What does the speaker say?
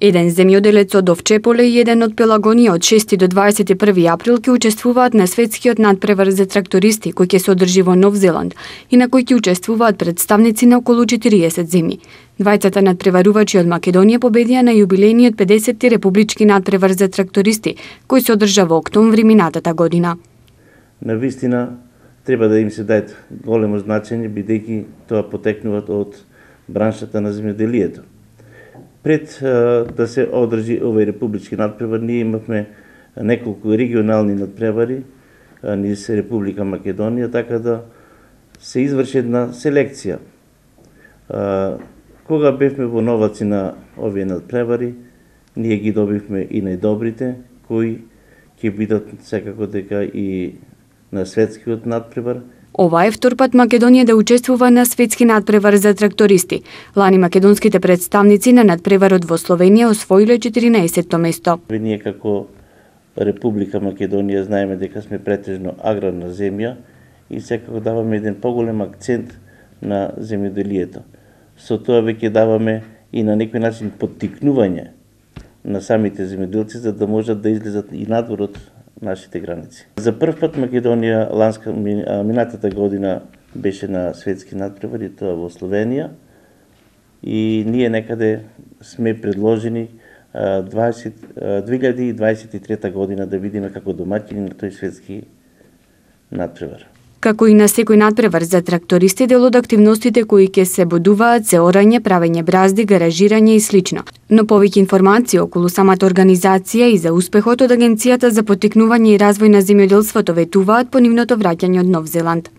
Еден земјоделец од Овчеполе и еден од Пелагонија од 6 до 21 април ќе учествуваат на светскиот надпревар за трактористи кој ќе се одржи во Нов Зеланд и на кој ќе учествуваат представници на околу 40 земји. Двајцата надпреварувачи од Македонија победија на јубилејниот 50-ти републички надпревар за трактористи кој се одржа во октомври минатата година. Навистина треба да им се даде големо значење бидејќи тоа потекнуваат од браншата на земјоделието. Пред да се одржи овој републички надпревар, ние имавме неколку регионални надпревари низ Република Македонија, така да се изврши една селекција. Кога бевме во новаци на овие надпревари, ние ги добивме и најдобрите, кои ќе бидат секако дека и на светскиот надпревар. Ова е втор пат Македонија да учествува на светски надпревар за трактористи. Лани македонските представници на надпреварот во Словенија освоиле 14-то место. Ние како Република Македонија знаеме дека сме претежно аграрна земја и секако даваме еден поголем акцент на земјоделието. Со тоа веќе даваме и на некој начин поттикнување на самите земјоделци за да можат да излезат и надвор од нашите граници. За прв пат Македонија минатата година беше на светски надпревари, тоа во Словенија, и ние некаде сме предложени 2023 година да видиме како домаќини на тој светски надпревар. Како и на секој надпревар за трактористи, дел од активностите кои ќе се бодуваат се орање, правење бразди, гаражирање и слично. Но повеќе информации околу самата организација и за успехот од Агенцијата за поттикнување и развој на земјоделството ветуваат по нивното враќање од Нов Зеланд.